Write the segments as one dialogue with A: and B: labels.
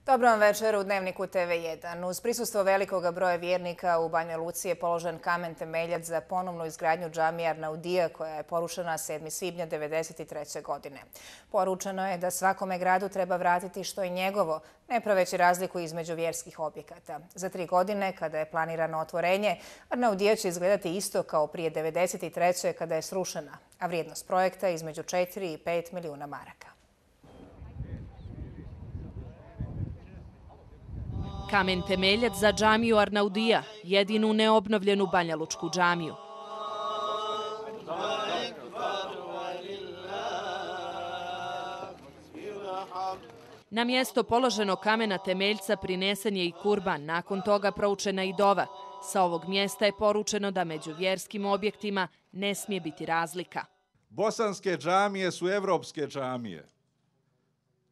A: Dobro vam večer u Dnevniku TV1. Uz prisustvo velikog broja vjernika u Banja Luci je položen kamen temeljac za ponovnu izgradnju džamije Arnaudija koja je porušena 7. svibnja 1993. godine. Poručeno je da svakome gradu treba vratiti što je njegovo, ne praveći razliku između vjerskih objekata. Za 3 godine, kada je planirano otvorenje, Arnaudija će izgledati isto kao prije 1993. kada je srušena, a vrijednost projekta je između 4 i 5 milijuna maraka.
B: Kamen temeljac za džamiju Arnaudija, jedinu neobnovljenu banjalučku džamiju. Na mjesto položenog kamena temeljca prinesen je i kurban, nakon toga proučena i dova. Sa ovog mjesta je poručeno da među vjerskim objektima ne smije biti razlika.
C: Bosanske džamije su evropske džamije.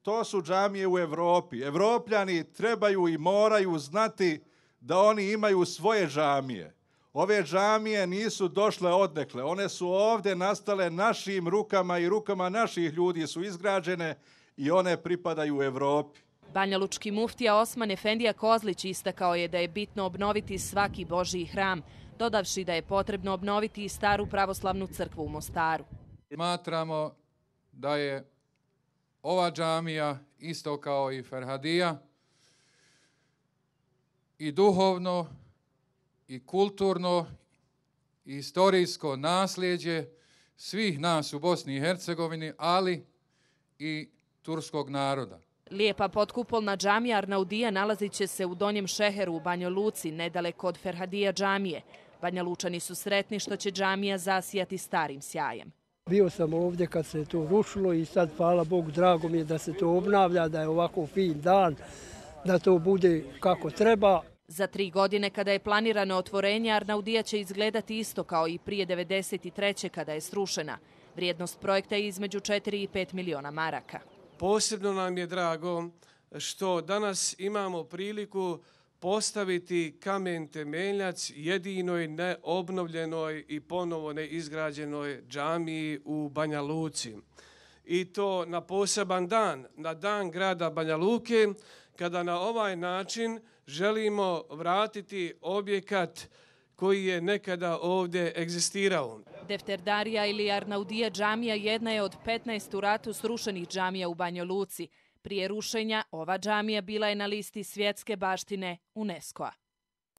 C: To su džamije u Evropi. Evropljani trebaju i moraju znati da oni imaju svoje džamije. Ove džamije nisu došle odnekle. One su ovdje nastale našim rukama i rukama naših ljudi su izgrađene i one pripadaju Evropi.
B: Banjalučki muftija Osman Efendija Kozlić istakao je da je bitno obnoviti svaki Božji hram, dodavši da je potrebno obnoviti i staru pravoslavnu crkvu u Mostaru.
D: Smatramo da je ova džamija, isto kao i Ferhadija, i duhovno, i kulturno, i istorijsko nasljeđe svih nas u Bosni i Hercegovini, ali i turskog naroda.
B: Lijepa potkupolna džamija Arnaudija nalazit će se u Donjem Šeheru u Banjoj Luci, nedaleko od Ferhadija džamije. Banja Lučani su sretni što će džamija zasijati starim sjajem.
E: Bio sam ovdje kad se to rušilo i sad, hvala Bogu, drago mi je da se to obnavlja, da je ovako fin dan, da to bude kako treba.
B: Za 3 godine kada je planirano otvorenje, Arnaudija će izgledati isto kao i prije 1993. kada je srušena. Vrijednost projekta je između 4 i 5 milijuna maraka.
F: Posebno nam je drago što danas imamo priliku postaviti kamen temeljac jedinoj neobnovljenoj i ponovo neizgrađenoj džamiji u Banja Luci. I to na poseban dan, na dan grada Banja Luke, kada na ovaj način želimo vratiti objekat koji je nekada ovdje egzistirao.
B: Defterdarija ili Arnaudija džamija jedna je od 15 u ratu srušenih džamija u Banjoj Luci. Prije rušenja ova džamija bila je na listi svjetske baštine UNESCO-a.